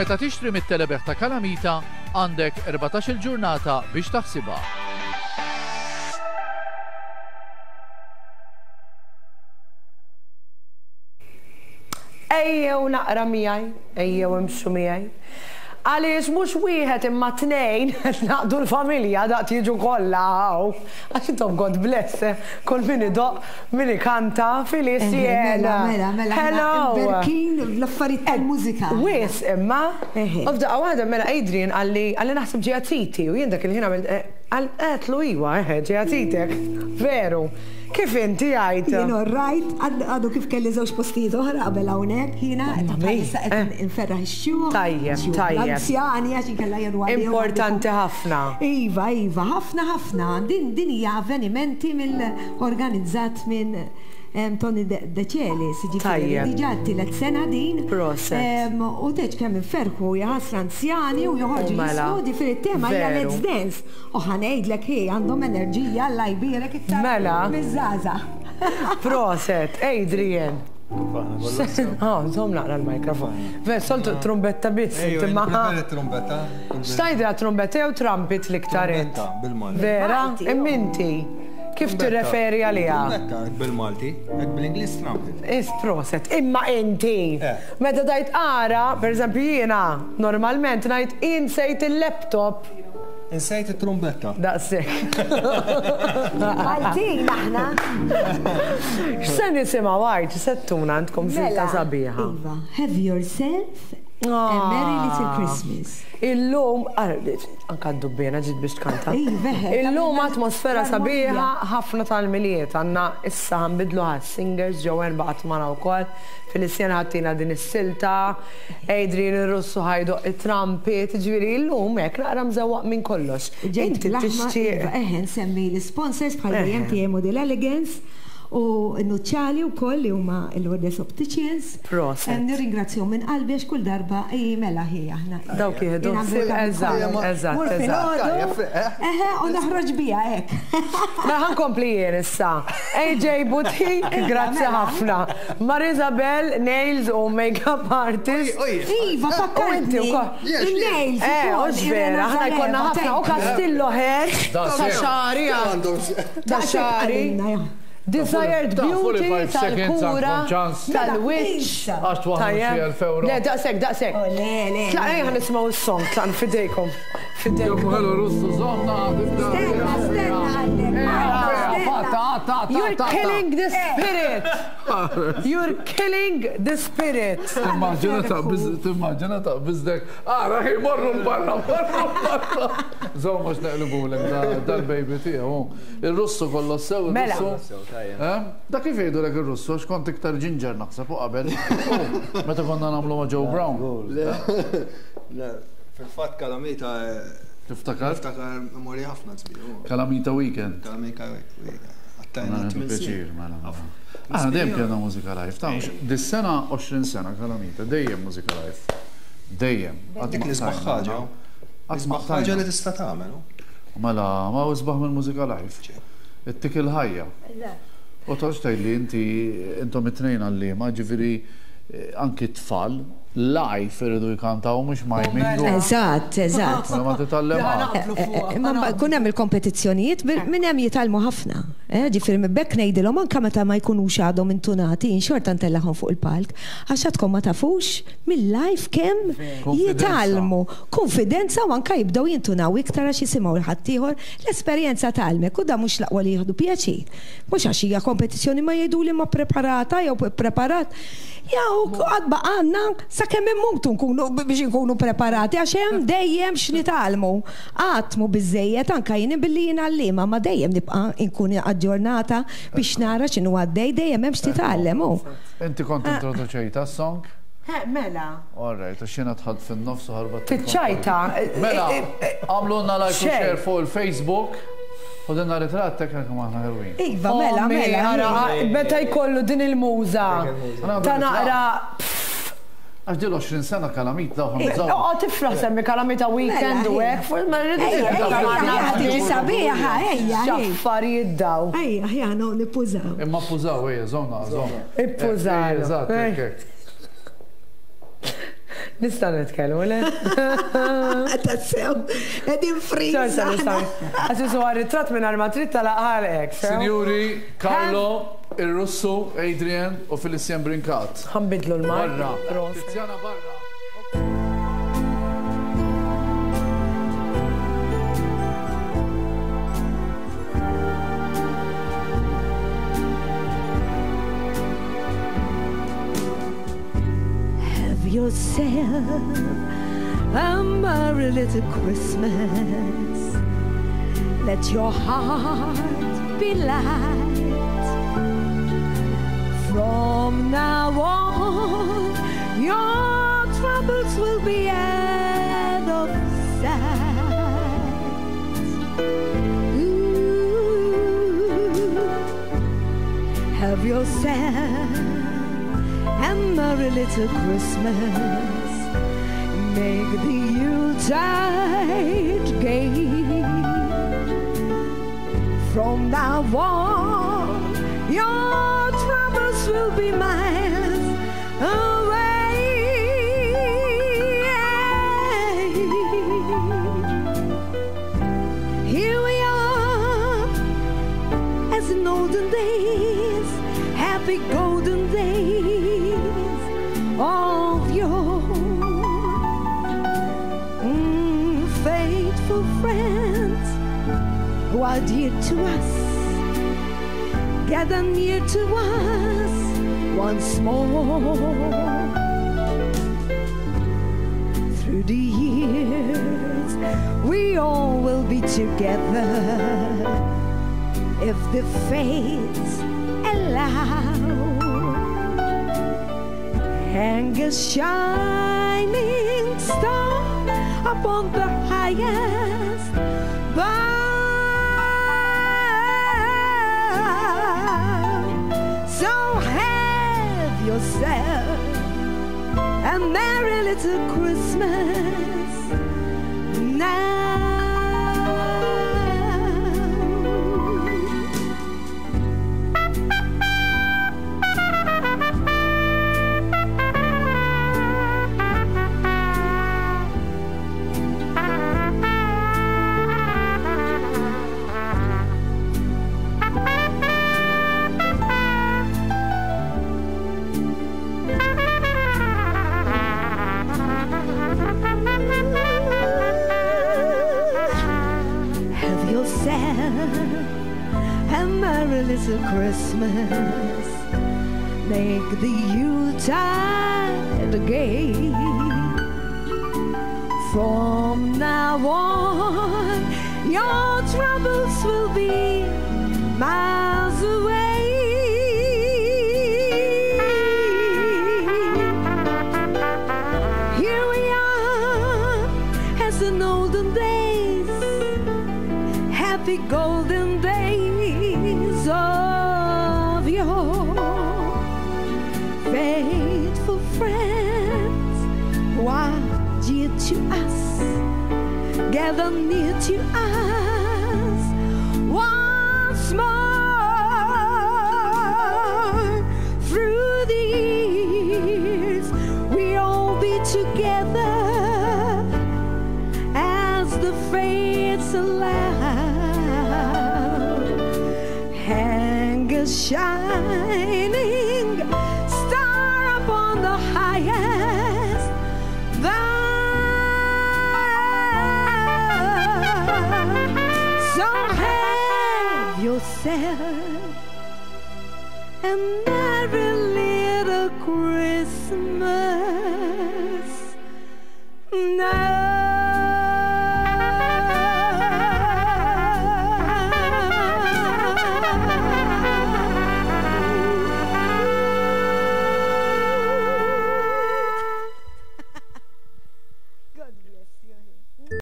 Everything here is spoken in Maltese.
Meta tixtri mit-telebejgħ ta' Kalamita għandek 14-il ġurnata biex taħsibha. Ejjew naqra miegħi, ejjew imxu miegħi. Għaliex mhux wieħed imma tnejn qed naqdu l-familja daqt jiġu kollha hawn. Għax intom God bless, eh, kull min idoqq, min ikanta, Feliciana. Mela, mela, mela. Hello. Imberkin bl-affarijiet tal-mużika. Wisq imma. U f'daqqa waħda mela Adrian qalli, qalli naħseb ġejja Titi u jien dak il-ħin għamilt, qal, għedtlu iwa, eħe, ġejja Titek. Veru. Kif inti għidt? Jien all right, għadu kif kelli żewġ postijiet oħra qabel hawnhekk, jiena bħalissa qed inferraħ ix-xjuħ. Tajjeb, tajjeb. L-anzjani għax inkella jgħidu għalihom. Importanti ħafna. Iva, iva, ħafna ħafna. Din din hija avvenimenti mill organizzat minn Tony De Celis, jiġifieri diġà t-tielet sena din. Proset. U tgħidx kemm inferrħu, jaħasra anzjani u joħorġu jiżfnu, jiġifieri t-tema hija Let's Dance. U ħa ngħidlek hi għandhom enerġija Alla jbierek iktar Mela. miż-żgħażagħ. Proset, Adrian. Ah, żomm naqra l-mikrofon. Ver, soltu trumbetta biss, Ejju, imma. preferi trumbetta. X'tgħidilha trumbetta jew trumpet l-iktar int? Trumbetta, bil-Malti. Vera? Malti, Imma inti kif Trumbetta. tirreferi għaliha? Trumbetta, hekk bil-Malti, hekk bil-Ingliż trumpet. Is proset, imma inti. Eh. Meta tgħid ara, pereżempju jiena normalment ngħid insejt il-laptop. Insejt it-trumbetta. Daqshekk. Maltin aħna. X'se nisimgħu għid, x'se ttuna għandkom silta Mela, sabiħa. Iva, have yourself a merry little Christmas. Illum, anka d-dubbiena ġiet biex tkanta. Iva, eħe, Illum tagħmilna atmosfera l-armonija. sabiħa ħafna tal-Milied. Għandna issa ħa nbiddlu għas-singers, Joanne baqgħet magħna wkoll. Feliciana ħa ttina din is-silta, Adrian ir-Russu ħa jdoqq it-trumpet, jiġifieri llum hekk naqra mżewwaq minn kollox. Ġejt Inti bl-aħmar, tixtieq. iva, eħe, nsemmi l-isponsors bħal dejjem TM u Model Elegance u n-nuċċali wkoll li huma l-Lourdes Opticians. Proset. Nirringrazzjahom minn qalbi għax kull darba hi mela hi aħna. Dawk jieħdu ħsieb, eżatt, eżatt, Mur filgħodu, eħe, u noħroġ biha hekk. Mela ħa nkompli jien issa. AJ Boutique, grazzi ħafna. Marisabel, nails u makeup artist. Iva, fakkartni. Il-nails. Eh, hux vera, aħna jkollna ħafna. U Castillo Hair, ta' xagħri, ta' xagħri. Desired Beauty tal-kura, tal-wiċċ. Għax twaħħlu xi 1000 euro. Le, daqshekk, daqshekk. Le, le. Tlaqna ejja nisimgħu s-song, tlaqna fidejkom. Fidejkom. Hello, Russu, żomna. Stenna, stenna, għallek. You're killing the spirit. You're killing the spirit. Timmaġina ta' timmaġina ta' bizdek. Ara, ħi morru barra, morru barra. Żomm għax neqlibulek dal-baby tiegħu. Ir-Russu kollu sew, Mela. ir-Russu. Eh? Da kif jgħidulek ir-Russu għax kont iktar ġinġer naħseb u qabel. Oh, Meta konna nagħmlu ma' Joe Brown. Le, fil-fatt Kalamita. Tiftakar? Niftakar memorja ħafna sbieħ. Kalamita Weekend. Kalamita Weekend. Għattajna Mela, tmien pjaċir, snin. mela, mela. Aħna dejjem kellna mużika live, ta' mhux- Dis-sena 20 sena Kalamita, dejjem mużika live. Dejjem. Qatt Dik ma l-isbaħ qtajna, ħaġa. no? Qatt ma L-isbaħ ħaġa qtajna. li tista' tagħmel. hu. Mela, ma hu isbaħ mill-mużika live. Ittik il-ħajja. U toqgħodx tgħidli inti intom it-tnejn għalliema, ġifieri eh, anki t-tfal live iridu jkantaw mhux miming. Eżatt, eżatt. Mela ma titgħallem qatt. Imma mbagħad kun hemm il-kompetizzjonijiet minn hemm jitgħallmu ħafna. Eh, Ġifieri minn bekk ngħidilhom anke meta ma jkunux għadhom intunati, xorta ntellagħhom fuq il-palk, għax għadkom ma tafux mill-live kemm jitgħallmu. Konfidenza u anke jibdew jintunaw iktar għax jisimgħu 'l ħaddieħor l-esperjenza tgħallmek u da mhux l-aqwa li jieħdu pjaċir. Mhux għax hija kompetizzjoni ma jgħiduli ma preparata jew preparat. Jew qatt baqgħalna sakemm immutu nkunu biex inkunu preparati għax hemm dejjem x'nitgħallmu. Qatt mhu biżżejjed anke jien billi jien għalliema ma dejjem nibqa' nkun aġġornata biex nara x'inhu għaddej dejjem hemm x'titgħallem hu. Inti kont introduċejta s-song? Eh, mela. All right, għax jiena dħalt fin-nofs u ħarbat. Tiċċajta. Mela, għamlulna like u Xejn. share fuq il-Facebook. U dinna ritratt hekk kemm aħna ħelwin. Iva, mela, Ommi, mela. ara, meta jkollu din il-muża ta' naqra. Għax dil 20 sena kalamit daw ħamżaw. Oqgħod tifraħ semmi kalamita weekend u hekk, fuq ma rridu Ejja, ejja, ejja, tiġi sabiħa, ejja, ejja. X'affarijiet daw. Ejja, ejja, no, nippużaw. Imma ppużaw, ejja, żomna, żomna. Ippużaw. Eżatt, hekk, hekk. Nistgħu nitkellmu, le? Tassew, qegħdin freeze. Xorta nistgħu. Għax isu ritratt minn ma trid talaq. Signori, Carlo, il-Russu, Adrian u Felicien Brincat. Ħa nbiddlu l-mic. Barra. Prosit. Tiziana barra. Have yourself a merry little Christmas. Let your heart be light. From now on, your troubles will be out of sight. Ooh, have yourself a merry little Christmas. Make the Yuletide gay. From now on, your troubles will be miles away. Here we are, as in olden days, happy golden days of yore. Faithful friends who are dear to us, gather near to us once more. Through the years, we all will be together if the fates allow. Hang a shining star upon the highest bough. So have yourself a merry little Christmas now. Have yourself a merry little Christmas. Make the Yuletide gay. From now on, your troubles will be miles away. Here we are, as in olden days, happy golden days of yore. Faithful friends who are dear to us, gather near to us once more. Through the years, we all be together as the fates allow. Hang a shining star upon the highest bough. So have yourself a merry little Christmas.